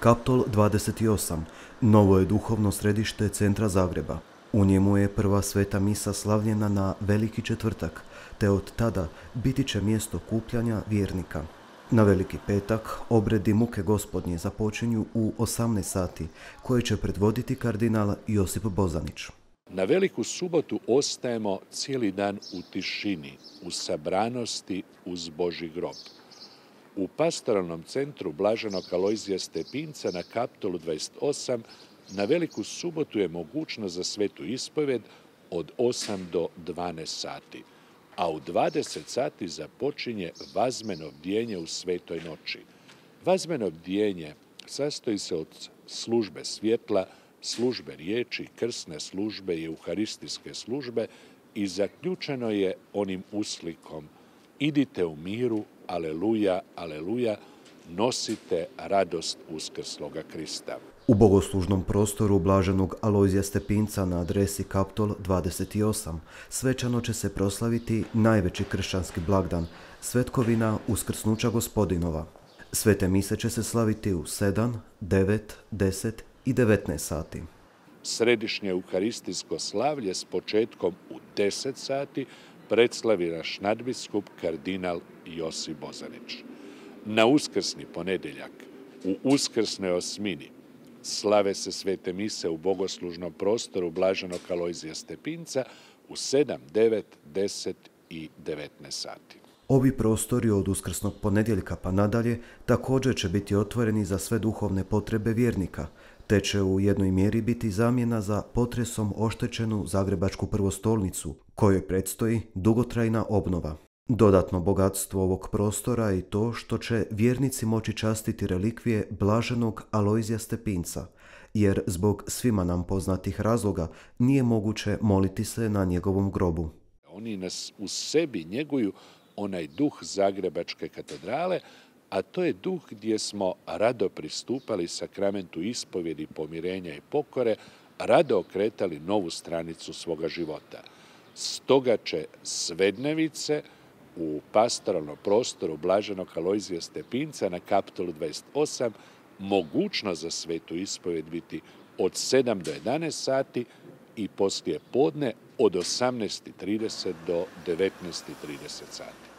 Kaptol 28 novo je duhovno središte centra Zagreba. U njemu je prva sveta misa slavljena na Veliki četvrtak, te od tada biti će mjesto kupljanja vjernika. Na Veliki petak obredi muke Gospodnje započinju u 18 sati, koje će predvoditi kardinal Josip Bozanić. Na Veliku subotu ostajemo cijeli dan u tišini, u sabranosti uz Božji grob. U pastoralnom centru Blaženog Alojzija Stepinca na Kaptolu 28 na Veliku subotu je mogućnost za svetu ispovjed od 8 do 12 sati, a u 20 sati započinje vazmeno bdjenje u svetoj noći. Vazmeno bdjenje sastoji se od službe svjetla, službe riječi, krsne službe i euharistijske službe i zaključeno je onim uslikom: idite u miru, aleluja, aleluja, nosite radost uskrsloga Krista. U bogoslužnom prostoru Blaženog Alojzija Stepinca na adresi Kaptol 28 svečano će se proslaviti najveći kršćanski blagdan, svetkovina Uskrsnuća Gospodinova. Svete mise će se slaviti u 7, 9, 10 i 19 sati. Središnje euharistijsko slavlje s početkom u 10 sati predslavi naš nadbiskup kardinal Josip Bozanić. Na uskrsni ponedjeljak, u uskrsnoj osmini, slave se svete mise u bogoslužnom prostoru Blaženog Alojzija Stepinca u 7, 9, 10 i 19 sati. Ovi prostori od uskrsnog ponedjeljka pa nadalje također će biti otvoreni za sve duhovne potrebe vjernika, te će u jednoj mjeri biti zamjena za potresom oštećenu Zagrebačku prvostolnicu, kojoj predstoji dugotrajna obnova. Dodatno bogatstvo ovog prostora je i to što će vjernici moći častiti relikvije Blaženog Alojzija Stepinca, jer zbog svima nam poznatih razloga nije moguće moliti se na njegovom grobu. Oni nas u sebi njeguju onaj duh Zagrebačke katedrale, a to je duh gdje smo rado pristupali sakramentu ispovjedi, pomirenja i pokore, rado okretali novu stranicu svoga života. Stoga će svednevice u pastoralnom prostoru Blaženog Alojzija Stepinca na Kaptolu 28 mogućnost za svetu ispovjed biti od 7 do 11 sati i poslije podne od 18:30 do 19:30 sati.